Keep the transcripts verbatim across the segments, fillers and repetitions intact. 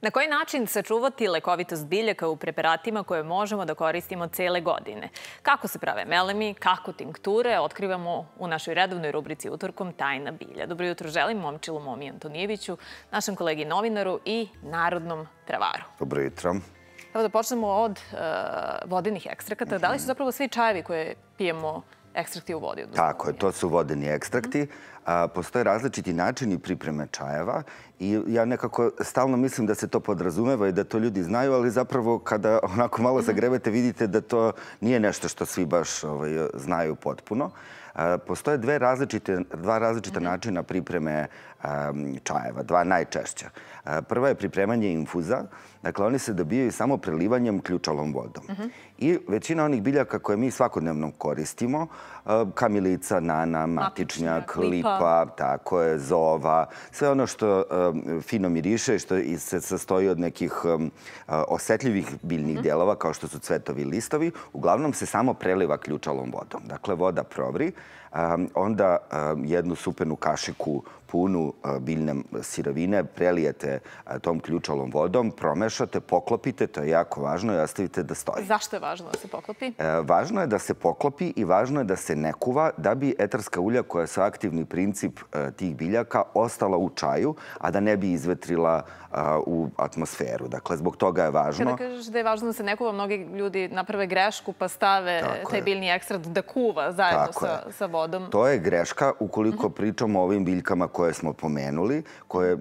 Na koji način sačuvati lekovitost biljaka u preparatima koje možemo da koristimo cele godine? Kako se prave melemi, kako tinkture, otkrivamo u našoj redovnoj rubrici Utorkom Tajna bilja. Dobro jutro želim Momčilu Momi Antonijeviću, našem kolegi novinaru i narodnom travaru. Dobro jutro. Evo da počnemo od uh, vodenih ekstrakata. Da li su zapravo svi čajevi koje pijemo ekstrakti u vodi? Tako je, to su vodeni ekstrakti. Postoje različiti načini pripreme čajeva i ja nekako stalno mislim da se to podrazumeva i da to ljudi znaju, ali zapravo kada onako malo zagrebete vidite da to nije nešto što svi baš znaju potpuno. Postoje dve različite, dva različita načina pripreme čajeva, dva najčešća. Prva je pripremanje infuza. Dakle, oni se dobijaju samo prelivanjem ključalom vodom. I većina onih biljaka koje mi svakodnevno koristimo, kamilica, nana, matičnjak, lipa, tako je, zova, sve ono što fino miriše i što se sastoji od nekih osetljivih biljnih dijelova, kao što su cvetovi i listovi, uglavnom se samo preliva ključalom vodom. Dakle, voda provri, onda jednu supenu kašiku punu biljne sirovine prelijete tom ključalom vodom, promešate, poklopite, to je jako važno i ostavite da stoji. Zašto je važno da se poklopi? Važno je da se poklopi i važno je da se ne kuva da bi etarska ulja, koja su aktivni princip tih biljaka, ostala u čaju, a da ne bi izvetrila u atmosferu. Dakle, zbog toga je važno... Kada kažeš da je važno da se ne kuva, mnogi ljudi naprave grešku pa stave taj biljni ekstrakt da kuva zajedno sa vodom. To je greška ukoliko pričamo o ovim biljkama koje smo pomenuli,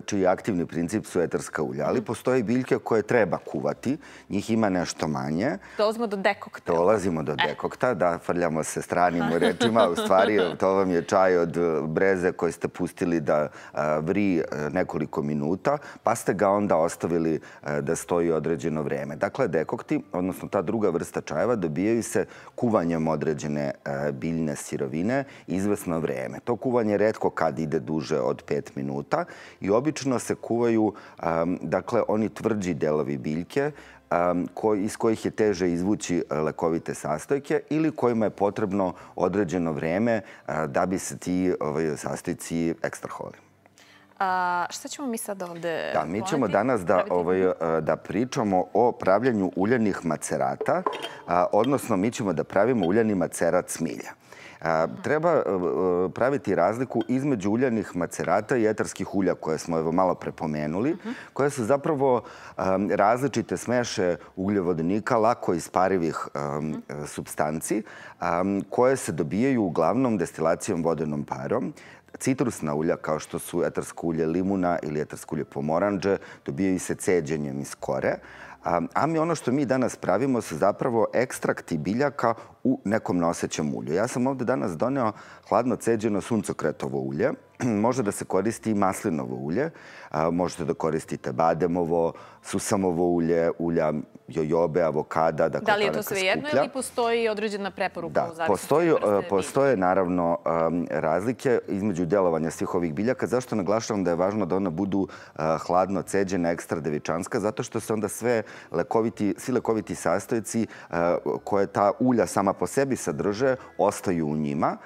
čiji aktivni princip su etarska ulja. Ali postoje biljke koje treba kuvati, njih ima nešto manje. Dolazimo do dekokta. Dolazimo do dekokta, da, frljamo se stranim rečima. U stvari, to vam je čaj od breze koji ste pustili da vri nekoliko minuta, pa ste ga onda ostavili da stoji određeno vreme. Dakle, dekokti, odnosno ta druga vrsta čajeva, dobijaju se kuvanjem određene biljne sirovine izvesno vreme. To kuvanje retko kad ide duže od pet minuta i obično se kuvaju, dakle, oni tvrđi delovi biljke iz kojih je teže izvući lekovite sastojke ili kojima je potrebno određeno vreme da bi se ti sastojci ekstrahovali. Šta ćemo mi sad ovde... Da, mi ćemo danas da pričamo o pravljenju uljanih macerata, odnosno mi ćemo da pravimo uljani macerat smilja. Treba praviti razliku između uljanih macerata i etarskih ulja koje smo evo malo prepomenuli, koje su zapravo različite smeše ugljovodonika, lako isparivih supstanci, koje se dobijaju uglavnom destilacijom vodenom parom. Citrusna ulja, kao što su etarsko ulje limuna ili etarsko ulje pomoranđe, dobijaju se ceđenjem iz kore. A mi ono što mi danas pravimo su zapravo ekstrakti biljaka u nekom nosećem ulju. Ja sam ovdje danas doneo hladno ceđeno suncokretovo ulje. Može da se koristi i maslinovo ulje. Možete da koristite bademovo, susamovo ulje, ulja jojobe, avokada. Da li je to svejedno ili postoji određena preporuka? Da, postoje naravno razlike između delovanja svih ovih biljaka. Zašto naglašavam da je važno da ona budu hladno ceđena, ekstra devičanska? Zato što se onda sve svi lekoviti sastojci koje ta ulja sama po sebi sadrže, ostaju u njima.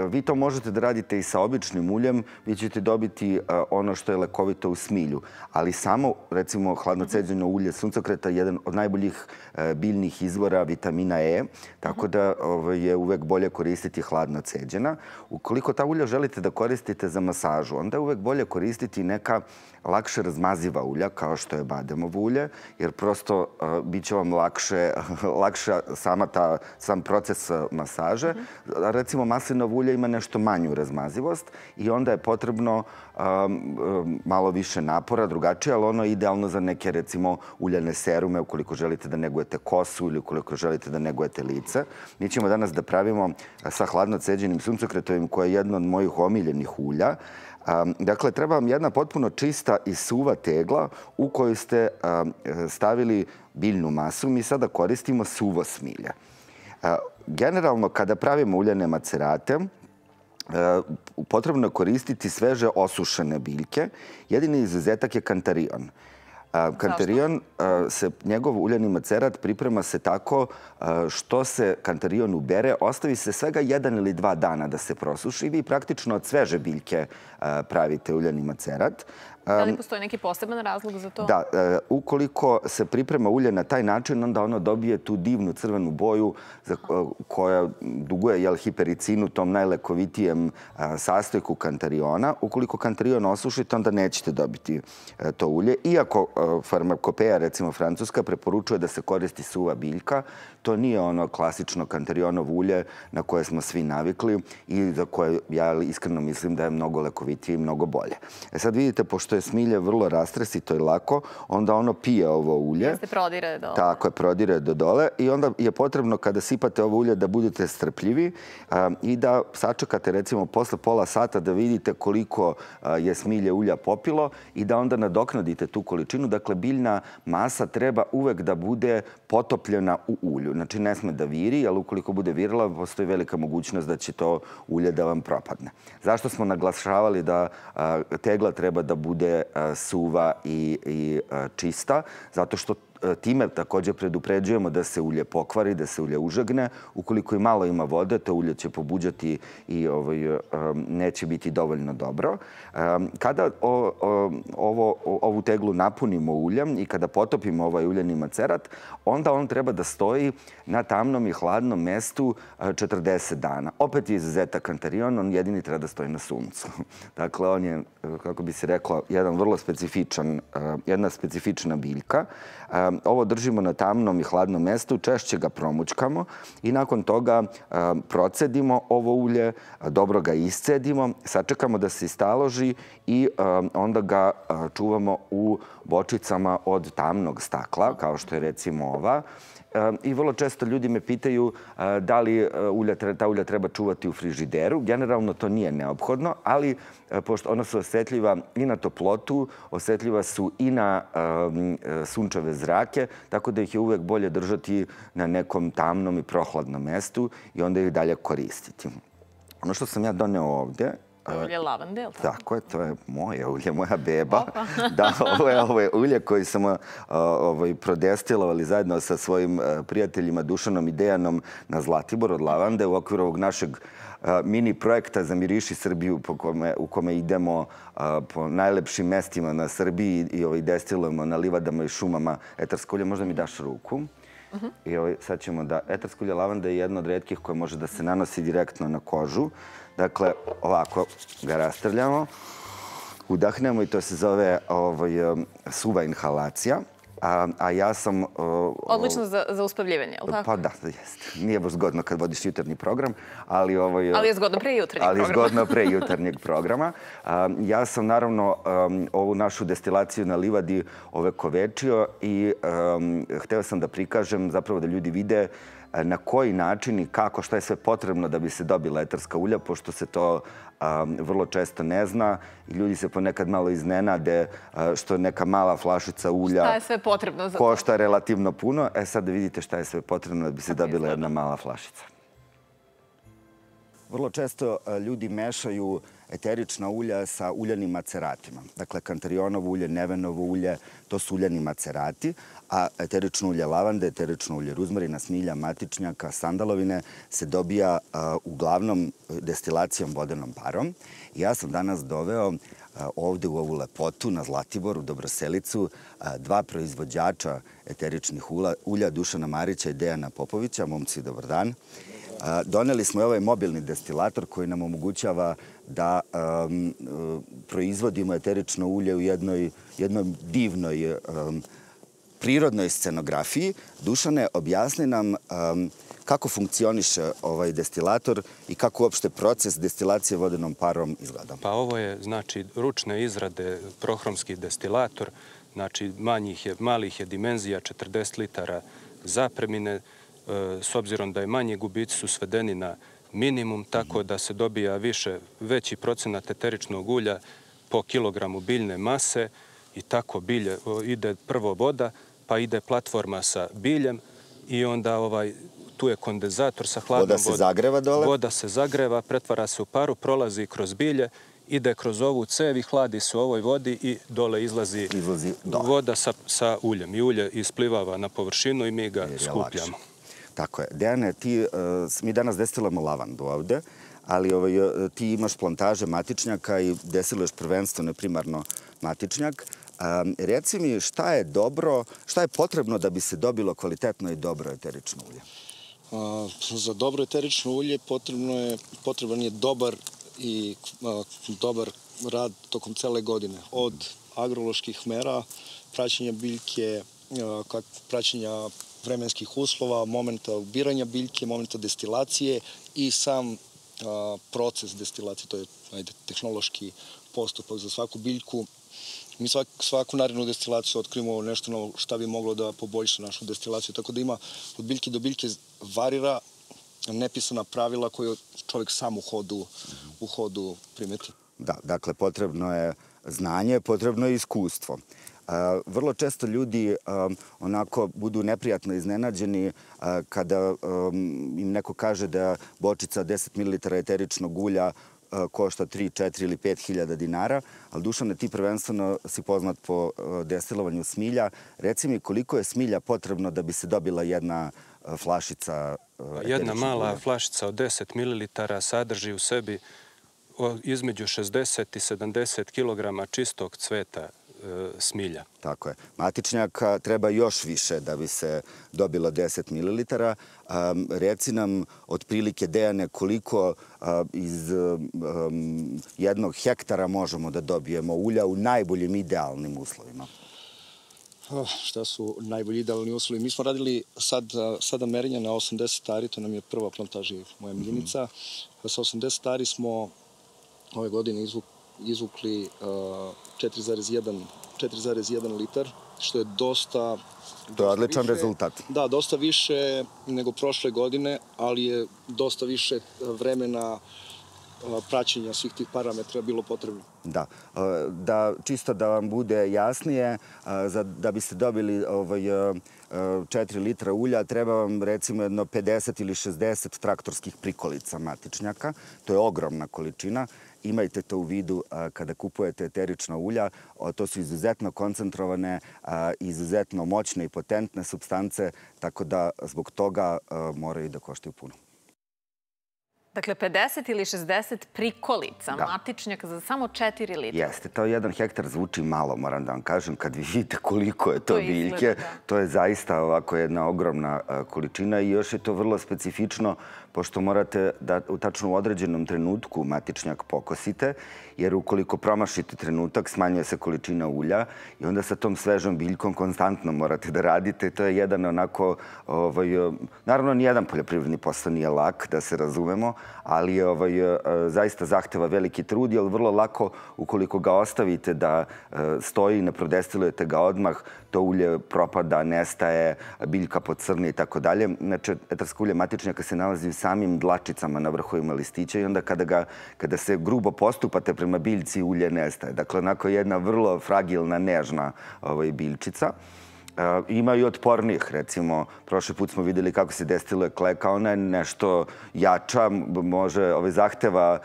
Vi to možete da radite i sa običnim uljem, vi ćete dobiti ono što je lekovito u smilju. Ali samo, recimo, hladno ceđeno ulje suncokreta je jedan od najboljih biljnih izvora vitamina E, tako da je uvek bolje koristiti hladno ceđena. Ukoliko ta ulja želite da koristite za masažu, onda je uvek bolje koristiti neka lakše razmaziva ulja, kao što je bademovo ulje, jer prosto bit će vam lakša sam proces masaže. Recimo, maslinovo ulje ima nešto manju razmazivost i onda je potrebno malo više napora, drugačije, ali ono je idealno za neke, recimo, uljane serume, ukoliko želite da negujete kosu ili ukoliko želite da negujete lice. Mi ćemo danas da pravimo sa hladno ceđenim suncokretovim, koje je jedno od mojih omiljenih ulja. Dakle, treba vam jedna potpuno čista i suva tegla u kojoj ste stavili biljnu masu. Mi sada koristimo suvo smilje. Generalno, kada pravimo uljane macerate, potrebno je koristiti sveže osušene biljke. Jedini izuzetak je kantarion. Kantarion, njegov uljani macerat priprema se tako što se kantarion ubere, ostavi se svega jedan ili dva dana da se prosuši i vi praktično od sveže biljke pravite uljani macerat. Da li postoji neki poseban razlog za to? Da, ukoliko se priprema ulje na taj način, onda ono dobije tu divnu crvenu boju koja duguje hipericinu, tom najlekovitijem sastojku kantariona. Ukoliko kantarion osušite, onda nećete dobiti to ulje. Iako farmakopeja, recimo francuska, preporučuje da se koristi suva biljka, to nije ono klasično kantarionovo ulje na koje smo svi navikli i za koje ja iskreno mislim da je mnogo lekovitije i mnogo bolje. E sad vidite, pošto je smilje vrlo rastresito i lako, onda ono pije ovo ulje. Jeste prodire do dole. Tako je, prodire do dole i onda je potrebno kada sipate ovo ulje da budete strpljivi i da sačekate recimo posle pola sata da vidite koliko je smilje ulja popilo i da onda nadoknadite tu količinu. Dakle, biljna masa treba uvek da bude potopljena u ulju. Znači, ne sme da viri, ali ukoliko bude virila, postoji velika mogućnost da će to ulje da vam propadne. Zašto smo naglašavali da tegla treba da bude suva i čista? Zato što time također predupređujemo da se ulje pokvari, da se ulje užegne. Ukoliko i malo ima vode, to ulje će pobuđati i neće biti dovoljno dobro. Kada ovu teglu napunimo uljem i kada potopimo ovaj uljeni macerat, onda on treba da stoji na tamnom i hladnom mestu četrdeset dana. Opet je izuzetak kantarion, on jedini treba da stoji na suncu. Dakle, on je, kako bi se reklo, jedan vrlo specifičan, jedna specifična biljka. Ovo držimo na tamnom i hladnom mestu, češće ga promućkamo i nakon toga procedimo ovo ulje, dobro ga iscedimo, sačekamo da se istaloži i onda ga čuvamo u bočicama od tamnog stakla, kao što je recimo ova. I vrlo često ljudi me pitaju da li ta ulja treba čuvati u frižideru. Generalno to nije neophodno, ali pošto ona su osetljiva i na toplotu, osetljiva su i na sunčeve zrake, tako da ih je uvek bolje držati na nekom tamnom i prohladnom mestu i onda ih dalje koristiti. Ono što sam ja doneo ovde... Ulje lavande, je li tako? Tako je, to je moje ulje, moja beba. Da, ovo je ulje koji smo prodestilovali zajedno sa svojim prijateljima Dušanom i Dejanom na Zlatibor od lavande u okviru ovog našeg mini projekta za Miriši Srbiju u kome idemo po najlepšim mestima na Srbiji i destilujemo na livadama i šumama etarsko ulje. Možda mi daš ruku? I sad ćemo da... Etarsko ulje lavande je jedno od retkih koje može da se nanosi direktno na kožu. Dakle, ovako ga rastrljamo, udahnemo i to se zove suva inhalacija. A ja sam... Odlično za uspavljivanje, je li tako? Pa da, jeste. Nije baš zgodno kad vodiš jutarnji program, ali... Ali je zgodno pre jutarnjeg programa. Ali je zgodno pre jutarnjeg programa. Ja sam naravno ovu našu destilaciju na livadi ovekovečio i hteo sam da prikažem, zapravo da ljudi vide na koji način i kako, šta je sve potrebno da bi se dobila etarska ulja, pošto se to vrlo često ne zna i ljudi se ponekad malo iznenade što neka mala flašica ulja šta je sve potrebno za to? Košta relativno puno. E sad da vidite šta je sve potrebno da bi se dobila jedna mala flašica. Vrlo često ljudi mešaju eterična ulja sa uljanim maceratima. Dakle, kantarionovo ulje, nevenovo ulje, to su uljani macerati, a eterično ulje lavande, eterično ulje ruzmarina, smilja, matičnjaka, sandalovine se dobija uglavnom destilacijom vodenom parom. Ja sam danas doveo ovde u ovu lepotu na Zlatibor, u Dobroselicu, dva proizvođača eteričnih ulja, Dušana Marića i Dejana Popovića. Momci, dobar dan. Doneli smo i ovaj mobilni destilator koji nam omogućava da proizvodimo eterično ulje u jednoj divnoj prirodnoj scenografiji. Dušane, objasni nam kako funkcioniše ovaj destilator i kako uopšte proces destilacije vodenom parom izgleda. Pa ovo je, znači, ručne izrade, prohromski destilator, znači malih je dimenzija, četrdeset litara zapremine, s obzirom da je manji gubici su svedeni na minimum, tako da se dobija više, veći procenat eteričnog ulja po kilogramu biljne mase i tako bilje, ide prvo voda, pa ide platforma sa biljem i onda tu je kondenzator sa hladnom vodom. Voda se zagreva dole? Voda se zagreva, pretvara se u paru, prolazi kroz bilje, ide kroz ovu cev i hladi se u ovoj vodi i dole izlazi voda sa uljem. I ulje isplivava na površinu i mi ga skupljamo. Tako je. Dejane, mi danas destilujemo lavandu ovde, ali ti imaš plantaže matičnjaka i destiluješ prvenstveno primarno Matičnjak. Reci mi šta je dobro, šta je potrebno da bi se dobilo kvalitetno i dobro eterično ulje? Za dobro eterično ulje potreban je dobar i dobar rad tokom cele godine. Od agroloških mera, praćenja biljke, praćenja vremenskih uslova, momenta ubiranja biljke, momenta destilacije i sam proces destilacije, to je tehnološki postupak za svaku biljku. Mi svaku narednu destilaciju otkrivamo nešto novo šta bi moglo da poboljša našu destilaciju, tako da ima od biljke do biljke varira nepisana pravila koje čovjek sam u hodu primeti. Da, dakle, potrebno je znanje, potrebno je iskustvo. Vrlo često ljudi onako budu neprijatno iznenađeni kada im neko kaže da bočica deset mililitara eteričnog ulja košta tri, četiri ili pet hiljada dinara, ali Dušane, ti prvenstveno si poznat po destilovanju smilja. Reci mi koliko je smilja potrebno da bi se dobila jedna flašica eteričnog ulja? Jedna mala flašica od deset mililitara sadrži u sebi između šezdeset i sedamdeset kilograma čistog cveta smilja. Tako je. Matičnjaka treba još više da bi se dobilo deset mililitara. Reci nam otprilike, Dejane, koliko iz jednog hektara možemo da dobijemo ulja u najboljim idealnim uslovima? Šta su najbolji idealni uslovi? Mi smo radili sada merenja na osamdeset ari, to nam je prva plantaža moja miljenica. Sa osamdeset ari smo ove godine izvukli četiri zarez jedan litar, što je dosta... To je odličan rezultat. Da, dosta više nego prošle godine, ali je dosta više vremena praćenja svih tih parametra bilo potrebno. Da, čisto da vam bude jasnije, da biste dobili četiri litra ulja, treba vam recimo jedno pedeset ili šezdeset traktorskih prikolica matičnjaka. To je ogromna količina. Imajte to u vidu kada kupujete eterična ulja. To su izuzetno koncentrovane, izuzetno moćne i potentne supstance, tako da zbog toga moraju da koštaju puno. Dakle, pedeset ili šezdeset prikolica, matičnjaka za samo četiri litra. Jeste, to jedan hektar zvuči malo, moram da vam kažem, kad vi vidite koliko je to biljke. To je zaista ovako jedna ogromna količina i još je to vrlo specifično, pošto morate da u tačno određenom trenutku matičnjak pokosite, jer ukoliko promašite trenutak, smanjuje se količina ulja i onda sa tom svežom biljkom konstantno morate da radite. To je jedan onako, naravno nijedan poljoprivredni posao nije lak, da se razumemo, ali zaista zahteva veliki trud, jer vrlo lako, ukoliko ga ostavite da stoji, ne prodestilujete ga odmah, to ulje propada, nestaje, biljka pocrni i tako dalje. Znači, etarsko ulje matičnjaka se nalazi u samim dlačicama na vrhovima listića i onda kada se grubo postupate prema biljci, ulje nestaje. Dakle, onako jedna vrlo fragilna, nežna biljčica. Ima i otpornijih, recimo, prošli put smo videli kako se destiluje kleka, ona je nešto jača, može, zahteva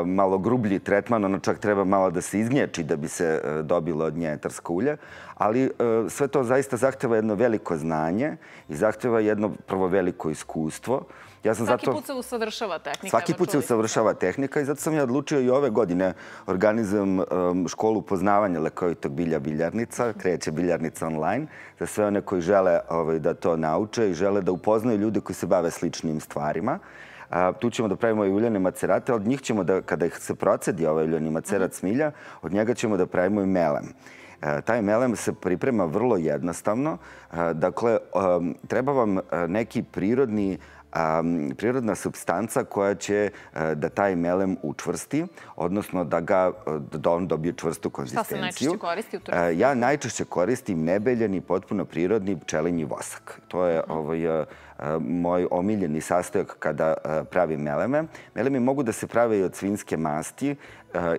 malo grublji tretman, ono čak treba malo da se izgnječi da bi se dobilo od nje etarsko ulje, ali sve to zaista zahteva jedno veliko znanje i zahteva jedno prvo veliko iskustvo. Svaki put se usavršava tehnika. Svaki put se usavršava tehnika i zato sam ja odlučio i ove godine organizujem školu poznavanja lekovitog bilja Biljarnica, kreće Biljarnica online, za sve one koji žele da to nauče i žele da upoznaju ljude koji se bave sličnim stvarima. Tu ćemo da pravimo i uljane macerate, od njih ćemo da, kada se procedi ovaj uljani macerat smilja, od njega ćemo da pravimo i melem. Taj melem se priprema vrlo jednostavno. Dakle, treba vam neki prirodni prirodna supstanca koja će da taj melem učvrsti, odnosno da on dobije čvrstu konzistenciju. Šta se najčešće koristi u turizmu? Ja najčešće koristim nebeljeni, potpuno prirodni pčelinji vosak. To je moj omiljeni sastojak kada pravim meleme. Melemi mogu da se prave i od svinjske masti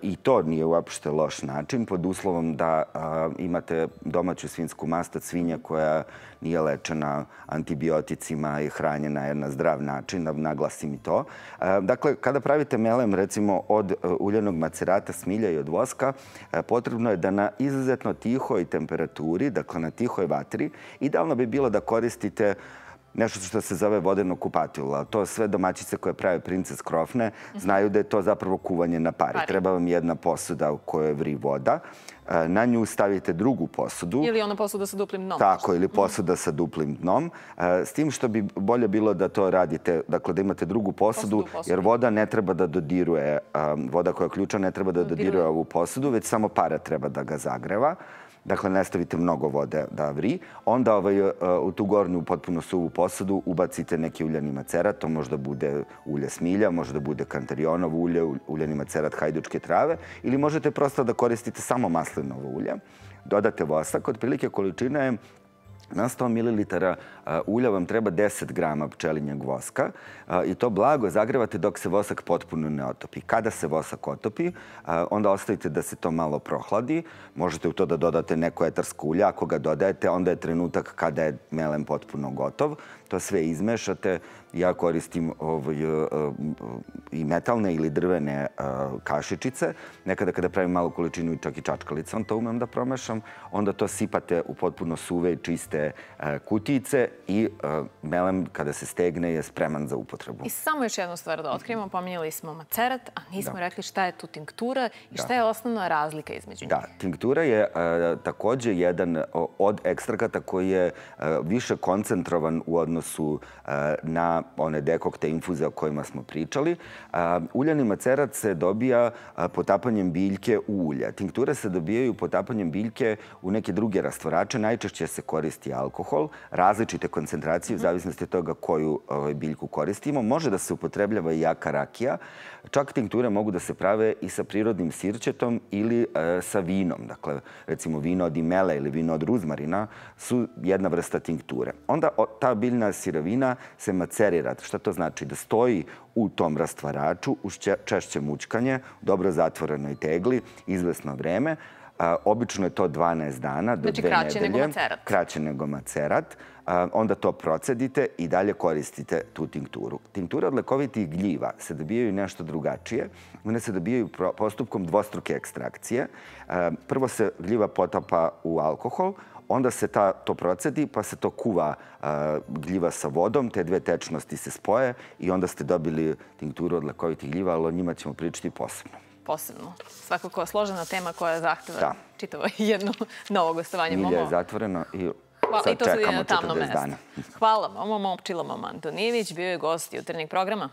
i to nije uopšte loš način, pod uslovom da imate domaću svinjsku mast od svinja koja nije lečena antibioticima i hranjena na zdrav način, da naglasim i to. Dakle, kada pravite melem, recimo, od uljanog macerata smilja i od voska, potrebno je da na izuzetno tihoj temperaturi, dakle na tihoj vatri, idealno bi bilo da koristite nešto što se zove vodeno kupatilo. To sve domaćice koje prave princes krofne znaju da je to zapravo kuvanje na pari. Treba vam jedna posuda u kojoj vri voda. Na nju stavite drugu posudu. Ili ona posuda sa duplim dnom. Tako, ili posuda sa duplim dnom. S tim što bi bolje bilo da to radite, dakle da imate drugu posudu, jer voda ne treba da dodiruje, voda koja je ključa ne treba da dodiruje ovu posudu, već samo para treba da ga zagreva. Dakle, ne stavite mnogo vode da vri. Onda u tu gornju potpuno suvu posudu ubacite neki uljani macerat. To možda bude ulje smilja, možda bude kantarionovo ulje, uljani macerat hajdučke trave ili možete prosto da koristite samo maslinovo ulje. Dodate vosak. Otprilike količina je na sto mililitara ulja vam treba deset grama pčelinjeg voska i to blago zagrevate dok se vosak potpuno ne otopi. Kada se vosak otopi, onda ostavite da se to malo prohladi. Možete u to da dodate neko etarsko ulje. Ako ga dodajete, onda je trenutak kada je melem potpuno gotov. To sve izmešate. Ja koristim i metalne ili drvene kašičice. Nekada kada pravim malu količinu čak i čačkalicom, to umem da promešam. Onda to sipate u potpuno suve i čiste kutijice i melem kada se stegne je spreman za upotrebu. I samo još jednu stvar da otkrijemo. Pominjali smo macerat, a nismo rekli šta je tu tinktura i šta je osnovna razlika između njih. Da, tinktura je takođe jedan od ekstrakata koji je više koncentrovan u odnosu na one dekokte infuze o kojima smo pričali. Uljani macerat se dobija potapanjem biljke u ulje. Tinkture se dobijaju potapanjem biljke u neke druge rastvorače. Najčešće se koristi alkohol, različite koncentracije u zavisnosti od toga koju biljku koristimo. Može da se upotrebljava i jaka rakija. Čak tinkture mogu da se prave i sa prirodnim sirćetom ili sa vinom. Dakle, recimo vino od imele ili vino od ruzmarina su jedna vrsta tinkture. Onda ta biljna sirovina se macerira. Šta to znači? Da stoji u tom rastvaraču uz češće mućkanje, dobro zatvorenoj tegli, izvesno vreme. Obično je to dvanaest dana do dve nedelje. Znači kraće nego macerat. Kraće nego macerat. Onda to procedite i dalje koristite tu tinkturu. Tinkture od lekovitih gljiva se dobijaju nešto drugačije. One se dobijaju postupkom dvostruke ekstrakcije. Prvo se gljiva potapa u alkohol, onda se to procedi, pa se to kuva gljiva sa vodom, te dve tečnosti se spoje i onda ste dobili tinkturu od lekovitih gljiva, ali o njima ćemo pričati posebno. Posebno. Svakako složena tema koja zahteva čitavo jedno novo gostovanje. Milje je zatvoreno i sad čekamo četrdeset dana. Hvala Momo Momčilo Momantonijević, bio je gost jutarnjeg programa.